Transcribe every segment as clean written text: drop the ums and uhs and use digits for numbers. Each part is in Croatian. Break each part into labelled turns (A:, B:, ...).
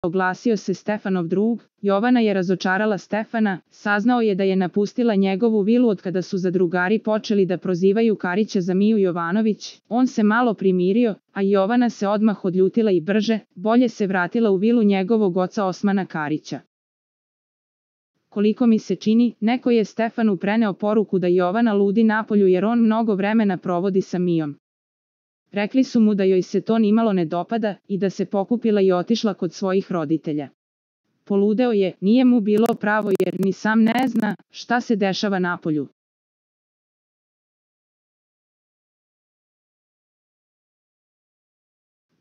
A: oglasio se Stefanov drug. Jovana je razočarala Stefana, saznao je da je napustila njegovu vilu otkada su zadrugari počeli da prozivaju Karića za Miju Jovanović. On se malo primirio, a Jovana se odmah odljutila i brže, bolje se vratila u vilu njegovog oca Osmana Karića. Koliko mi se čini, neko je Stefanu preneo poruku da Jovana ludi napolju jer on mnogo vremena provodi sa Mijom. Rekli su mu da joj se to nimalo ne dopada i da se pokupila i otišla kod svojih roditelja. Poludeo je, nije mu bilo pravo jer ni sam ne zna šta se dešava napolju.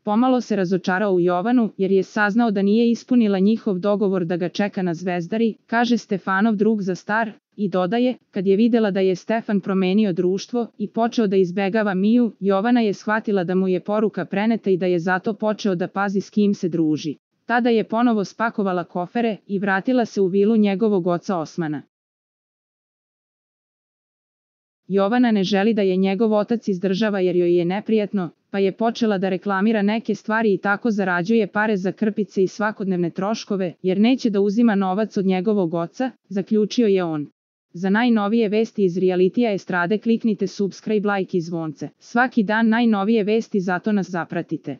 A: Pomalo se razočarao u Jovanu jer je saznao da nije ispunila njihov dogovor da ga čeka na Zvezdari, kaže Stefanov drug za star, i dodaje, kad je videla da je Stefan promenio društvo i počeo da izbegava Miju, Jovana je shvatila da mu je poruka preneta i da je zato počeo da pazi s kim se druži. Tada je ponovo spakovala kofere i vratila se u vilu njegovog oca Osmana. Jovana ne želi da je njegov otac izdržava jer joj je neprijatno, pa je počela da reklamira neke stvari i tako zarađuje pare za krpice i svakodnevne troškove, jer neće da uzima novac od njegovog oca, zaključio je on. Za najnovije vesti iz realitija estrade kliknite subscribe, like i zvonce. Svaki dan najnovije vesti, zato nas zapratite.